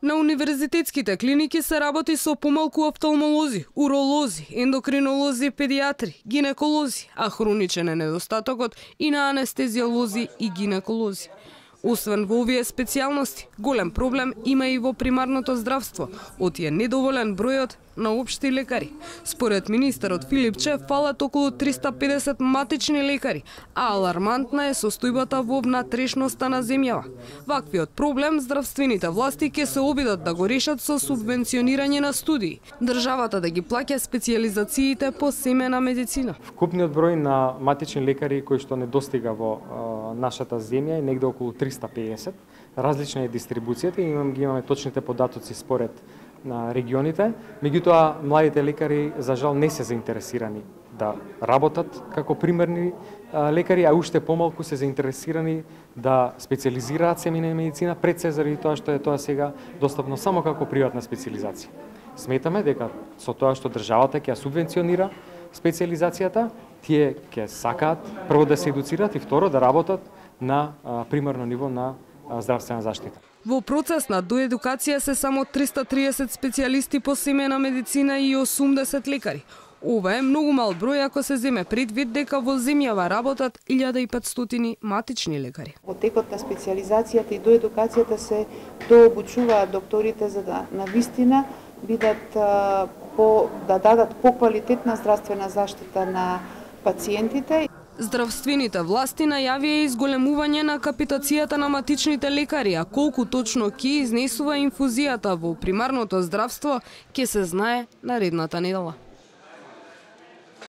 На универзитетските клиники се работи со помалку офталмолози, уролози, ендокринолози, педиатри, гинеколози, а хроничен е недостатокот и на анестезиолози и гинеколози. Освен во овие специјалности, голем проблем има и во примарното здравство, оти е недоволен бројот на општи лекари. Според министерот Филип Чев фалат околу 350 матични лекари, а алармантна е состојбата во внатрешноста на земјава. Ваквиот проблем здравствените власти ќе се обидат да го решат со субвенционирање на студии, државата да ги плаќа специјализациите по семена медицина. Вкупниот број на матични лекари кои што недостига во нашата земја е негде околу 350. Различна е дистрибуцијата и имаме точните податоци според на регионите, меѓутоа младите лекари за жал не се заинтересирани да работат како примерни лекари, а уште помалку се заинтересирани да специјализираат семейна медицина, пред се заради тоа што е тоа сега достапно само како приватна специјализација. Сметаме дека со тоа што државата ќе субвенционира специјализацијата, тие ќе сакаат прво да се едуцираат и второ да работат на примарно ниво на здравствена заштита. Во процес на доедукација се само 330 специјалисти по семена медицина и 80 лекари. Ова е многу мал број ако се земе предвид дека во земјава работат 1500 матични лекари. Во текот на специјализацијата и доедукацијата се дообучуваат докторите за да навистина бидат да дадат поквалитетна здравствена заштита на пациентите. Здравствените власти најавија изголемување на капитацијата на матичните лекари, а колку точно ќе изнесува инфузијата во примарното здравство ќе се знае наредната недела.